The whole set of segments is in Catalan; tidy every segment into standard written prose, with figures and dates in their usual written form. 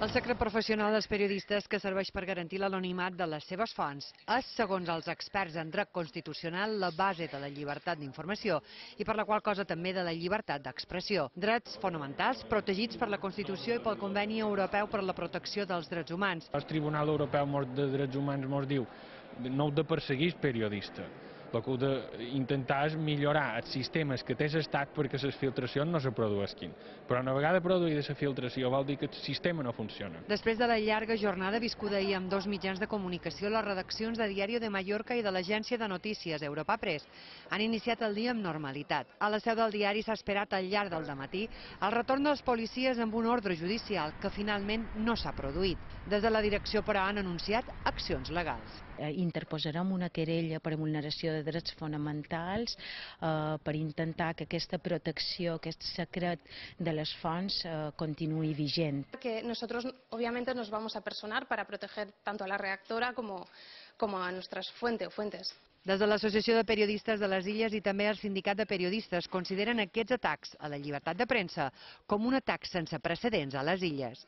El secret professional dels periodistes que serveix per garantir l'anonimat de les seves fonts és, segons els experts en dret constitucional, la base de la llibertat d'informació i per la qual cosa també de la llibertat d'expressió. Drets fonamentals protegits per la Constitució i pel Conveni Europeu per la Protecció dels Drets Humans. El Tribunal Europeu de Drets Humans ens diu no heu de perseguir el periodista. El que heu d'intentar és millorar els sistemes que té l'Estat perquè les filtracions no se produeixin. Però una vegada produïda la filtració vol dir que el sistema no funciona. Després de la llarga jornada viscuda ahir amb dos mitjans de comunicació, les redaccions de Diario de Mallorca i de l'agència de notícies Europa Press han iniciat el dia amb normalitat. A la seu del diari s'ha esperat al llarg del dematí el retorn dels policies amb un ordre judicial que finalment no s'ha produït. Des de la direcció, però, han anunciat accions legals. Interposarem una querella per vulneració de drets fonamentals per intentar que aquesta protecció, aquest secret de les fonts continuï vigent. Que nosotros obviamente nos vamos a personar para proteger tanto a la redactora como a nuestras fuentes. Des de l'Associació de Periodistes de les Illes i també el Sindicat de Periodistes consideren aquests atacs a la llibertat de premsa com un atac sense precedents a les Illes.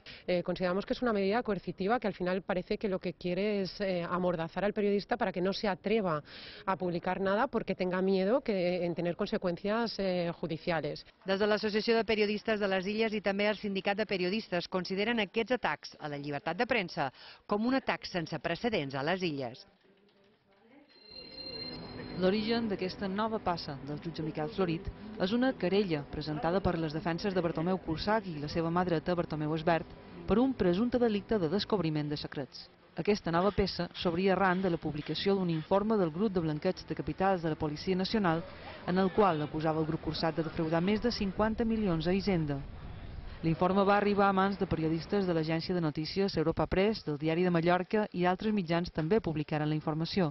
Consideramos que es una medida coercitiva que al final parece que lo que quiere es amordazar al periodista para que no se atreva a publicar nada porque tenga miedo en tener consecuencias judiciales. Des de l'Associació de Periodistes de les Illes i també el Sindicat de Periodistes consideren aquests atacs a la llibertat de premsa com un atac sense precedents a les Illes. L'origen d'aquesta nova passa del jutge Miquel Florit és una querella presentada per les defenses de Bartomeu Cursach i la seva mà dreta, Bartomeu Esbert, per un presumpte delicte de descobriment de secrets. Aquesta nova peça s'obria arran de la publicació d'un informe del grup de blanqueig de capitals de la Policia Nacional en el qual acusava el grup Cursach de defraudar més de 50 milions a Hisenda. L'informe va arribar a mans de periodistes de l'agència de notícies Europa Press, del Diari de Mallorca i altres mitjans també publicaren la informació.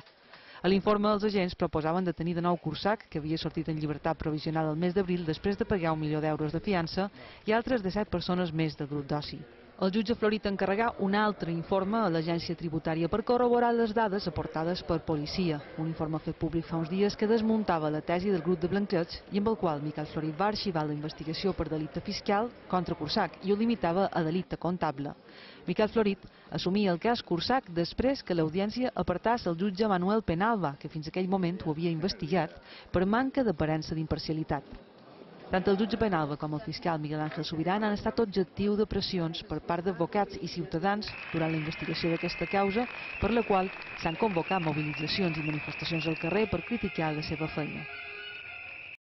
A l'informe, els agents proposaven detenir de nou Cursach, que havia sortit en llibertat provisional el mes d'abril després de pagar 1 milió d'euros de fiança, i altres 17 persones més del grup d'oci. El jutge Florit encarregà un altre informe a l'agència tributària per corroborar les dades aportades per policia, un informe fet públic fa uns dies que desmuntava la tesi del grup de blanqueig i amb el qual Miquel Florit va arxivar la investigació per delicte fiscal contra Cursach i ho limitava a delicte comptable. Miquel Florit assumia el cas Cursach després que l'audiència apartàs el jutge Manuel Penalba, que fins aquell moment ho havia investigat, per manca d'aparença d'imparcialitat. Tant el jutge Penalba com el fiscal Miguel Ángel Subirán han estat objectiu de pressions per part d'advocats i ciutadans durant la investigació d'aquesta causa, per la qual s'han convocat mobilitzacions i manifestacions al carrer per criticar la seva feina.